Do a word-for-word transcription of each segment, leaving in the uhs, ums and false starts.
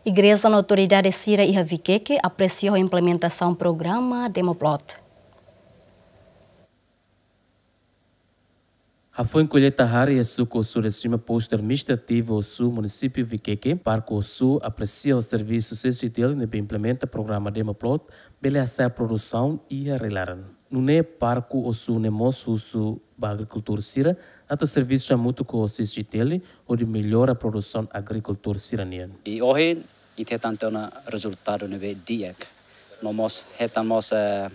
Igreja no autoridade sira iha Vikeke apresia ho implementasaun programa Demoplot. Hafoin kolleita hare iha suku Osu-Desima, postu administrativu Osu, munisípiu Vikeke, Parku Osu apresia ho servisu CCTL ne'ebé implementa programa Demoplot, bele hasa'e produsaun iha rai-laran. Nune'e Parku Osu ne'e mós husu ba agrikultór sira atu servisu hamutuk ho CCTL hodi mellora produsaun agrikultór sira-nian. I ohin ita hetan tiha ona rezultadu ne'ebé di'ak. No mós hetan mós, eh,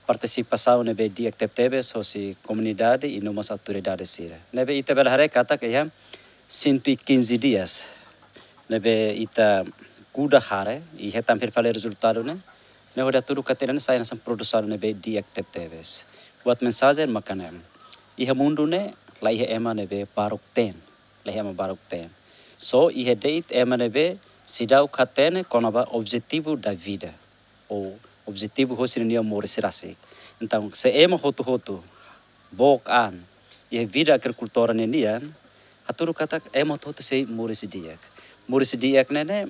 partisipasaun ne'ebé di'ak tebetebes hosi komunidade i no mós autoridade sira. Ne'ebé ita bele haree katak iha cento e quinze dias ne'ebé ita kuda hare i hetan fila fali rezultadu ne'e, ne'e hodi hatudu katak ita-nia sai hanesan produsaun ne'ebé di'ak tebetebes. Buat mensajen maka ne'e: iha mundu ne'e la iha ema ne'ebé baruk-teen, la iha ema baruk-teen. Só iha de'it ema ne'ebé seidauk hatene kona-ba objetivu da vida, ou objetivu hosi ninia moris rasik. Entaun, se ema hotu-hotu book an iha vida agrikultór ne'e nian, hatudu katak ema hotu-hotu sei moris di'ak. Moris di'ak ne'e ne'e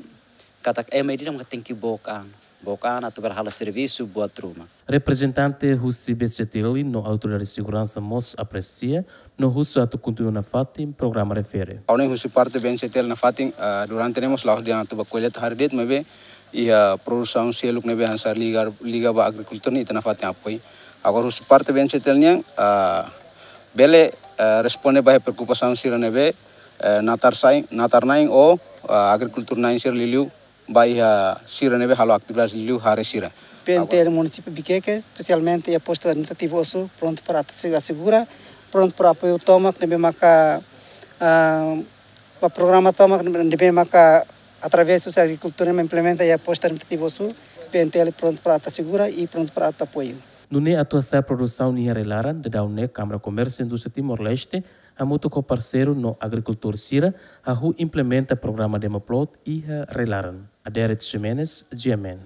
katak ema ida-idak maka tenke book an. Book an atu bele halo servisu buat ruma. Reprezentante husi BNCTL no Autoridade Seguransa mós apresia no husu atu kontinua nafatin programa refere. Ha'u-nia husi parte BNCTL nafatin, ah, durante ne'e mós la'ós dehan atu bá kolleita hare de'it, maibé iha produsaun seluk ne'ebé hanesan liga, liga ba agrikultura ne'e ita nafatin apoiu. Agora husi parte BNCTL nian, ah, bele, ah, responde ba preokupasaun sira ne'ebé, eh, natar-na'in, natar-na'in ou, ah, agrikultór na'in sira liuliu ba iha sira ne'ebé halo atividade liuliu hare sira. BNTL munisípiu Vikeke, espesialmente iha postu administrativu Osu, prontu para atu asegura, prontu para apoiu tomak ne'ebé maka, ah, ba programa tomak ne'ebé maka através husi agrikultór ne'ebé implementa iha postu administrativu Osu, BNTL prontu para atu asegura i prontu para atu apoiu. Nune'e atu hasa'e produsaun iha rai-laran, daudaun ne'e Kámara Komérsiu Indústria Timor-Leste hamutuk ho parseiru no agrikultór sira hahú implementa programa Demoplot iha rai-laran. Aderet Ximenes, GMN.